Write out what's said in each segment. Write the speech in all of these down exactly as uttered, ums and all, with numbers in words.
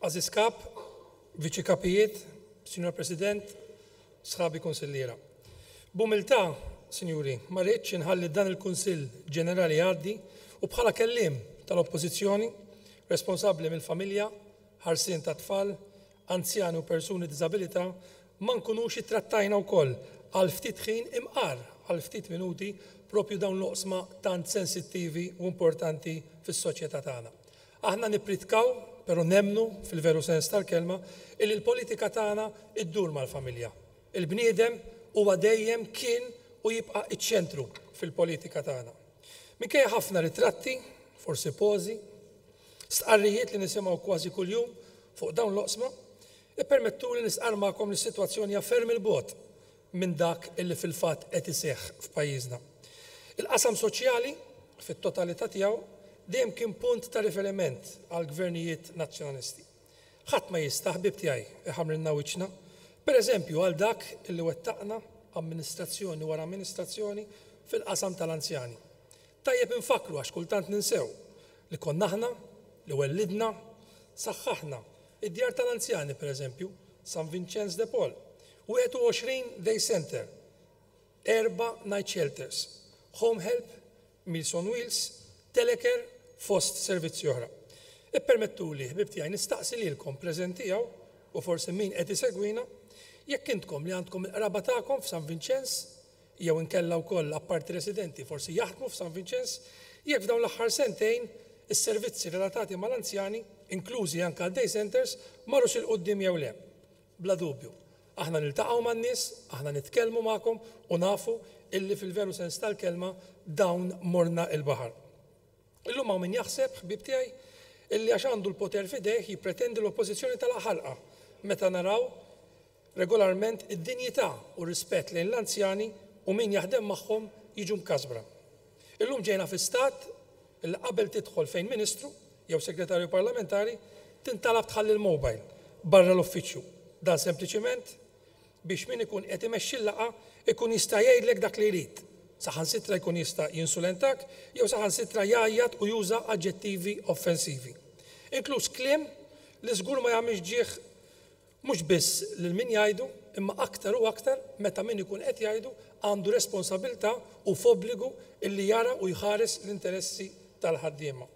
Għażiż Kap, Viċi Kapijiet, Sinjor President, sħabi kunsilliera. B'umiltà, sinjuri, ma rridx inħalli dan il-Kunsill Ġenerali jgħaddi u bħala kelliem tal-Oppożizzjoni responsabbli mill-familja, ħarsien ta' tfal, anzjani u persuni b'diżabilità ma nkunux ittrattajna wkoll għal ftit ħin, imqar għal ftit minuti, propju dawn l-oqsma tant sensittivi u importanti fis-soċjetà tagħna. Aħna nippritkaw, però nemmnu fil-veru sens tal-kelma, illi l-politika tagħna iddur mal-familja. Il-bniedem huwa dejjem kien u jibqa' iċ-ċentru fil-politika tagħna. Minkejja ħafna ritratti, forsi pożi, stqarrijiet li nisimgħu kważi kuljum fuq dawn l-oqsma, ippermettu li nistqarr magħkom li s-sitwazzjoni ferm 'il bogħod minn dak illi fil-fatt qed iseħħ f'pajjiżna. Il-qasam soċjali fit-totalità tiegħu dejjem kien punt ta' riferiment għal gvernijiet nazzjonalisti. Ħadd ma jista', ħbib tiegħi, iħamrilna wiċċna, pereżempju għal dak illi wettaqna amministrazzjoni wara amministrazzjoni fil-qasam tal-anzjani. Tajjeb infakru, għax kultant ninsew, li konna aħna li wellidna, saħħaħna id-djar tal-anzjani, pereżempju, San Vincenz de Paul, wieħed u għoxrin day center, erba' night shelters, home help, Meals on Wheels, telecare, fost servizzi oħra. Ippermettu li, ħbib tiegħi, nistaqsi lilkom preżenti hawn u forsi min qed isegwina, jekk intkom li għandkom il-qraba tagħkom f'San Vincenz jew inkella wkoll apparti residenti forsi jaħdmu f'San Vincenz, jekk f'dawn l-aħħar sentejn is-servizzi relatati mal-anzjani, inklużi anke day centers, marrux 'il quddiem jew le. Bla dubju. Aħna niltaqgħu man-nies, aħna nitkellmu magħkom u nafu illi fil-veru sens tal-kelma dawn morna il-baħar. Illum hawn min jaħseb, ħbib tiegħi, illi għax għandu l-poter f'idejh jippretendi l-oppożizzjoni tal-ħalqa meta naraw regolarment id-dinjità u rispett lejn l-anzjani u min jaħdem magħhom jiġu mkasbra. Illum ġejna fi stat illi qabel tidħol fejn ministru jew segretarju parlamentari tintalab tħalli l-mobile barra l-uffiċċju. Dan sempliċiment biex min ikun qed imexxi l-laqgħa ikun jista' jgħidlek dak li jrid. Saħansitra jkun jista' jinsulentak jew saħansitra jgħajjat u juża aġġettivi offensivi. Inkluż kliem li żgur ma jagħmilx ġieħ mhux biss lil min jgħidu, imma aktar u aktar meta min ikun qed jgħidu għandu responsabilità u f'obbligu illi jara u jħares l-interessi tal-ħaddiema.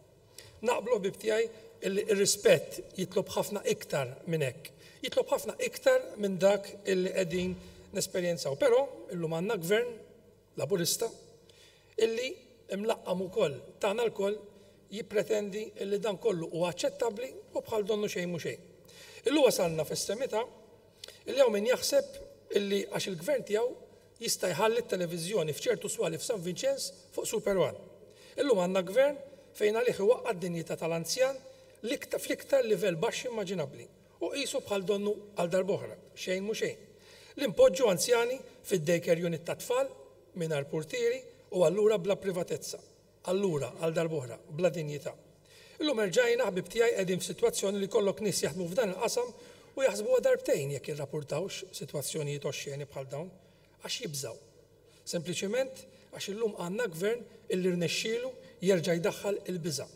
Naqblu, ħbib tiegħi, illi ir-rispett jitlob ħafna iktar minn hekk. Jitlob ħafna iktar minn dak illi qegħdin nesperjenzaw. Però illum għandna gvern Laburista illi imlaqqam ukoll tagħna lkoll jippretendi illi dan kollu huwa aċċettabbli u bħal donnu xejn mhu xejn. Illum wasalna f'estremità illi hawn min jaħseb illi għax il-gvern tiegħu jista' jħalli t-televiżjoni f'ċertu swali f'San Vincenz fuq Super One. Illum għandna gvern fejn għalih iwaqqa' d-dinjità tal-anzjan fl-iktar livell baxx immaġinabbli u qisu bħal donnu għal darb'oħra, xejn mhu xejn. Li npoġġu anzjani fid-daycare unit ta' tfal mingħajr portieri u allura bla privatezza. Allura għal darb'oħra bla dinjità. Illum erġajna, ħbib tiegħi, qegħdin f'sitwazzjoni li kollok nies jaħdmu f'dan il-qasam u jaħsbuha darbtejn jekk jirrapportawx sitwazzjonijiet oxxeni bħal dawn għax jibżaw. Sempliċiment għax illum għandna gvern illi rnexxielu jerġa' jdaħħal il-biża'.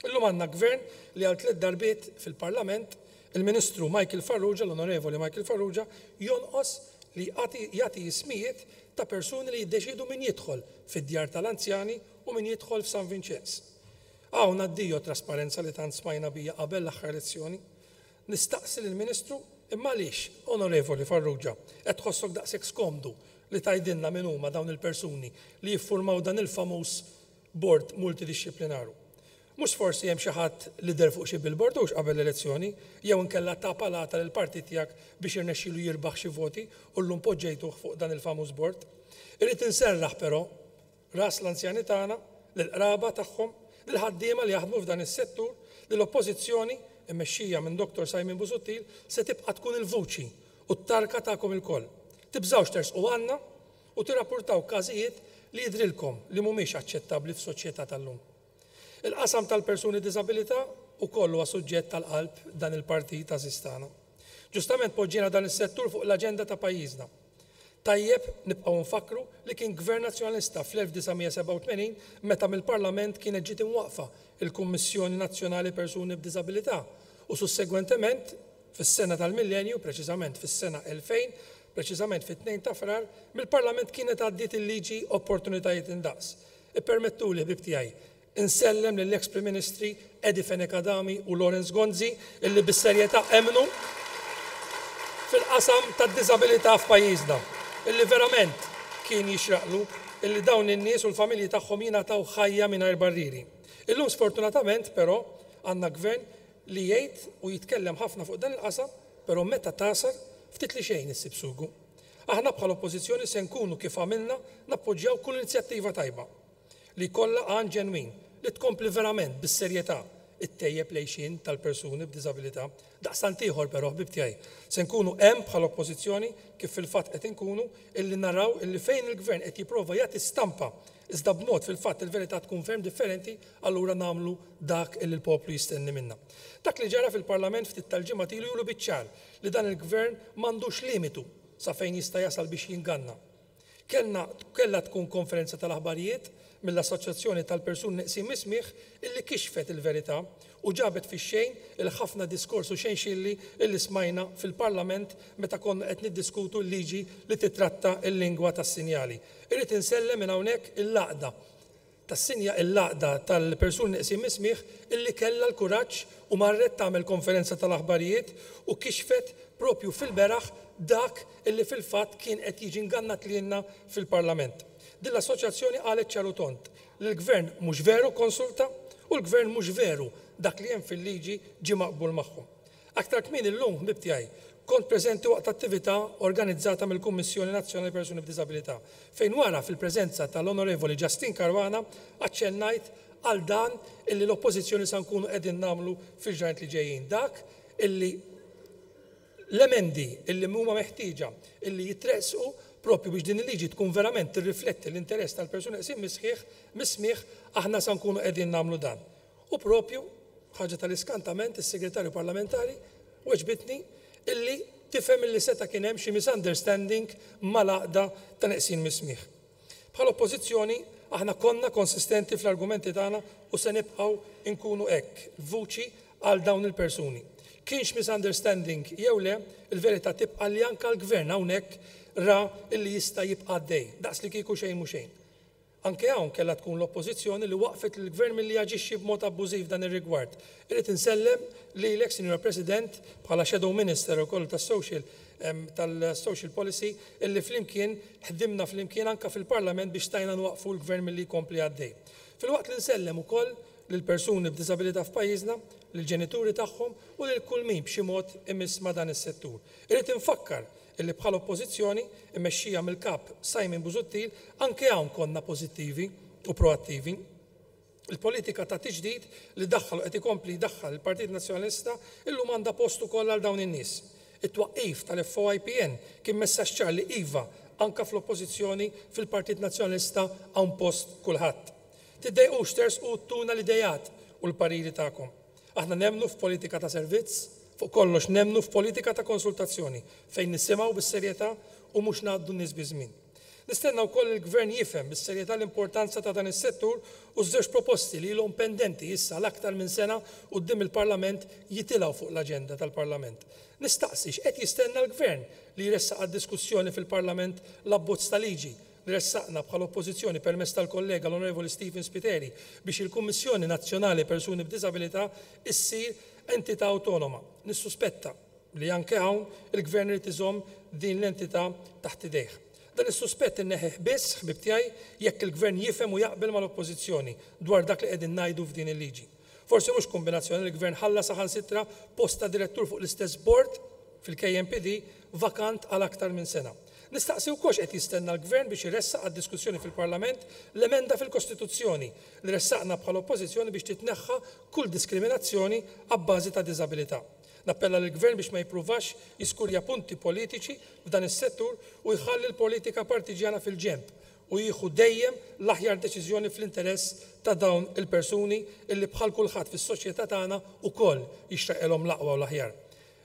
Illum għandna gvern li għal tliet darbiet fil-Parlament il-Ministru Michael Farrugia, l-Onorevoli Michael Farrugia, jonqos li jagħti ismijiet ta' persuni li jiddeċidu min jidħol fid-djar tal-anzjani u min jidħol f'San Vincenz. Hawn addio trasparenza li tant smajna bija qabel l-aħħar elezzjoni. Nistaqsi lill-Ministru, imma għaliex, Onorevoli Farrugia, qed tħossok daqshekk skomdu li tgħidilna min huma dawn il-persuni li jiffurmaw dan il-famuż bord multidisciplinaru? Mhux forsi hemm xi ħadd li deher fuq xi billboard hux qabel l-elezzjoni jew inkella ta palata lil partit tiegħek biex irnexxielu jirbaħ xi voti u llum poġġejtuh fuq dan il-famuż bord? Irrid inserraħ però ras l-anzjani tagħna, lill-qraba tagħhom, lill-ħaddiema li jaħdmu f'dan is-settur, li l-Oppożizzjoni immexxija minn Doktor Simon Busuttil se tibqa' tkun il-vuċi u t-tarka tagħkom ilkoll. Tibżgħux tersqu għandna u tirrapportaw każijiet li jidrilkom li mhumiex aċċettabbli f'soċjetà tal-lum. Il-qasam tal-persuni b'diżabilità ukoll huwa suġġett tal-qalb dan il-partit għażiż tagħna. Ġustament poġġiena dan is-settur fuq l-aġenda ta' pajjiżna. Tajjeb nibqgħu nfakru li kien Gvern Nazzjonalista fl-elf disa' mija sebgħa u tmenin meta mill-Parlament kienet ġiet imwaqfa il-Kummissjoni Nazzjonali Persuni b'Diżabilità U sussegwentement, fis-sena tal-millenju, preċiżament fis-sena elfejn, preċiżament fit-tnejn ta' Frar, mill-Parlament kienet għaddiet il-liġi Opportunitajiet Indaqs. Ippermettuli, ħbieb tiegħi, insellem lill-ex Prim Ministri Eddie Fenech Adami u Lawrence Gonzi illi bis-serjetà emmnu fil-qasam tad-diżabilità f'pajjiżna, illi verament kien jixraqlu illi dawn in-nies u l-familji tagħhom jingħataw ħajja mingħajr barrieri. Illum sfortunatament però għandna gvern li jgħid u jitkellem ħafna fuq dan il-qasam, però meta tasar ftit li xejn issib sugu. Aħna bħala oppożizzjoni se nkunu kif għamilna nappoġġjaw kull inizjattiva tajba li kollha għan ġenwin li tkompli verament bis-serjetà ittejjeb l-għixien tal-persuni b'diżabilità. Daqstant ieħor però, ħbieb tiegħi, se nkunu hemm bħala oppożizzjoni kif fil-fatt qed inkunu illi naraw illi fejn il-gvern qed jipprova jagħti stampa iżda b'mod fil-fatt il-verità tkun ferm differenti, allura nagħmlu dak illi l-poplu jistenni minna. Dak li ġara fil-Parlament ftit tal-ġimgħa ilu juru biċ-ċar li dan il-gvern m'għandux limitu sa fejn jista' jasal biex jinganna. Kellna, kellha tkun konferenza tal-aħbarijiet mill-Assoċjazzjoni tal-Persuni Neqsin Mis-Smigħ illi kixfet il-verità u ġabet fix-xejn il-ħafna diskors u xejn xilli illi smajna fil-Parlament meta konna qed niddiskutu l-liġi li titratta l-lingwa tas-sinjali. Irrid insellem minn hawnhekk il-laqda tas-sinja il-laqda tal-persuni neqsin mis-smigħ illi kellha l-kuraġġ u marret tagħmel konferenza tal-aħbarijiet u kixfet propju fil-beraħ dak illi fil-fatt kien qed jiġi ingannat lilna fil-Parlament. Din l-assoċjazzjoni qalet ċar u tond li l-gvern mhux veru konsulta u l-gvern mhux veru dak li hemm fil-liġi ġie maqbul magħhom. Aktar kmieni llum, ħbieb tiegħi, kont preżenti waqt attività organizzata mill-Kummissjoni Nazzjonali Persuni b'Diżabilità, fejn wara fil-preżenza tal-Onorevoli Justyne Caruana aċċennajt għal dan illi l-oppożizzjoni sa nkunu qegħdin nagħmlu fil-ġranet li ġejjin. Dak illi l-emendi illi huma meħtieġa illi jitresqu propju biex din il-liġi tkun verament tirrifletti l-interess tal-persuni neqsin mis-sħiħ, mis-smigħ, aħna sa nkunu qegħdin nagħmlu dan. U propju, ħaġa tal-iskantament, is-segretarju parlamentari weġbitni illi tifhem illi seta' kien hemm xi misunderstanding mal-għaqda ta' neqsin mis-smigħ. Bħala oppożizzjoni aħna konna konsistenti fl-argumenti tagħna u se nibqgħu nkunu hekk, vuċi għal dawn il-persuni. Kienx misunderstanding jew le, il-verità tibqa' li anke l-gvern hawnhekk ra illi jista' jibqa' għaddej, daqs li kieku xejn mhu xejn. Anke hawn kellha tkun l-oppożizzjoni li waqfet lill-gvern milli jaġixxi b'mod abbużiv dan ir-rigward. Irrid insellem lilek, Sinjura President, bħala Shadow Minister ukoll tas-social tal-Social Policy, illi flimkien ħdimna flimkien anke fil-Parlament biex stajna nwaqfu l-gvern milli jkompli għaddej. Filwaqt li nsellem ukoll lil persuni b'diżabilità f'pajjiżna, lill-ġenituri tagħhom u lil kull min b'xi mod imiss ma' dan is-settur. Irrid infakkar illi bħala oppożizzjoni immexxija mill-kap Simon Busuttil anke hawn konna pożittivi u proattivi. Il-politika ta' tiġdid li daħħal u qed ikompli jdaħħal il-Partit Nazzjonalista illum għandha post ukoll għal dawn in-nies. It-twaqqif tal-F O I P N kien messaġġ ċar li iva anka fl-oppożizzjoni fil-Partit Nazzjonalista hawn post kulħadd. Tiddejqux tersqu tuna l-idejat u l-pariri tagħkom. Aħna nemmnu f'politika ta' servizz, fuq kollox nemmnu f'politika ta' konsultazzjoni fejn nisimgħu bis-serjetà u mhux ngħaddu n-nies biż-żmien. Nistenna wkoll il-gvern jifhem bis-serjetà l-importanza ta' dan is-settur u żewġ proposti li ilhom pendenti issa l-aktar minn sena quddiem il-Parlament jitilgħu fuq l-aġenda tal-Parlament. Nistaqsi x'qed jistenna l-gvern li jressaq għad-diskussjoni fil-Parlament l-abbozz ta' liġi li ressaqna bħala oppożizzjoni permezz tal-kollega l-Onorevoli Stephen Spiteri biex il-Kummissjoni Nazzjonali Persuni b'Diżabilità issir entità autonoma. Nissuspetta li anke hawn il-gvern irid iżomm din l-entità taħt idejh. Dan is-suspett inneħħih biss, ħbieb tiegħi, jekk il-gvern jifhem u jaqbel mal-oppożizzjoni dwar dak li qegħdin ngħidu f'din il-liġi. Forsi mhux kombinazzjoni li l-gvern ħalla saħansitra post ta' direttur fuq l-istess bord fil-K M P D vakant għal aktar minn sena. Nistaqsi wkoll x'qed jistenna l-gvern biex iressaq għad-diskussjoni fil-Parlament l-emenda fil-Kostituzzjoni li ressaqna bħala oppożizzjoni biex titneħħa kull diskriminazzjoni abbażi ta' diżabilità. Nappella lill-gvern biex ma jippruvax jiskurja punti politiċi f'dan is-settur u jħalli l-politika partiġjana fil-ġenb u jieħu dejjem l-aħjar deċiżjoni fl-interess ta' dawn il-persuni illi bħal kulħadd fis-soċjetà tagħna wkoll jixtaqilhom l-aqwa u l-aħjar.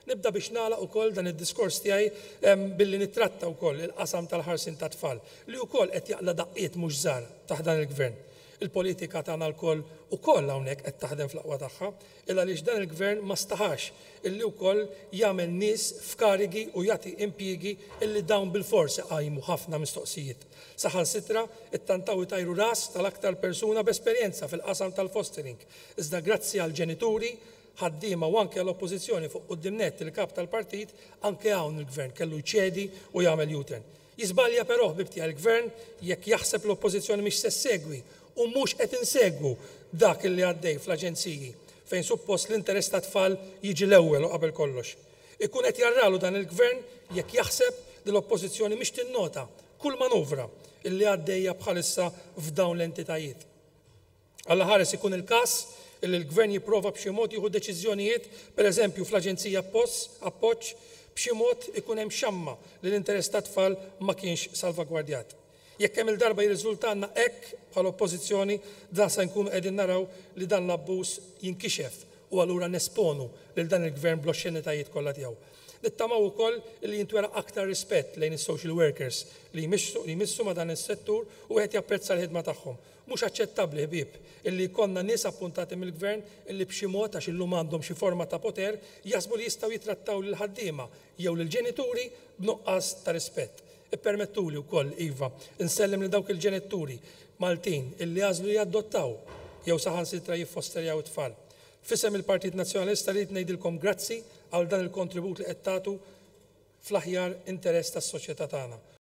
Nibda biex nagħlaq ukoll dan id-diskors tiegħi, em, billi nittratta wkoll il-qasam tal-ħarsien tat-tfal li wkoll qed jaqla' daqqiet mhux żgħar taħt dan il-gvern. Il-politika tagħna lkoll ukoll hawnhekk qed taħdem fl-aqwa tagħha, illa għaliex dan il-gvern ma staħax illi wkoll jagħmel nies f'karigi u jagħti impjiegi illi dawn bilfors iqajmu ħafna mistoqsijiet. Saħansitra ittantaw itajru ras tal-aktar persuna b'esperjenza fil-qasam tal-fostering. Iżda grazzi għall-ġenituri, ħaddiema u anke għall-oppożizzjoni, fuq quddiem nett il-kap tal-partit, anke hawn il-gvern kellu jċedi u jagħmel U-turn. Jiżbalja però, ħbieb tiegħi, il-gvern jekk jaħseb l-oppożizzjoni mhix se ssegwi, u mhux qed insegwu dak li għaddej fl-aġenziji fejn suppost l-interess tat-tfal jiġi l-ewwel u qabel kollox. Ikun qed jarralu dan il-gvern jekk jaħseb li l-oppożizzjoni mhix tinnota kull manuvra illi għaddejja bħalissa f'dawn l-entitajiet. Alla ħares ikun il-każ illi l-gvern jipprova b'xi mod jieħu deċiżjonijiet, pereżempju fl-aġenzija Appoġġ, b'xi mod ikun hemm xamma li l-interess tat-tfal ma kienx salvagwardjat. Jekk hemm il-darba jirriżultanna hekk bħala oppożizzjoni, dan se nkunu qegħdin naraw li dan l-abbuż jinkixef u allura nesponu lil dan il-gvern bl-oxxenitajiet kollha tiegħu. Nittamaw ukoll li jintwera aktar rispett lejn is-social workers li jmissu, li jmissu ma' dan is-settur u qed japprezza l-ħidma tagħhom. Mhux aċċettabbli, ħbieb, illi jkollna nies appuntati mill-gvern illi b'xi mod, għax illum għandhom xi forma ta' poter, jaħsbu li jistgħu jitrattaw lil ħaddiema jew lil ġenituri b'nuqqas ta' rispett. Ippermettuli wkoll, iva, insellem lil dawk il-ġenituri Maltin illi għażlu jadottaw jew saħansitra jiffosterjaw it-tfal. F'isem il-Partit Nazzjonalista rrid ngħidilkom grazzi għal dan il-kontribut li qed tagħtu fl-aħjar interess tas-soċjetà tagħna.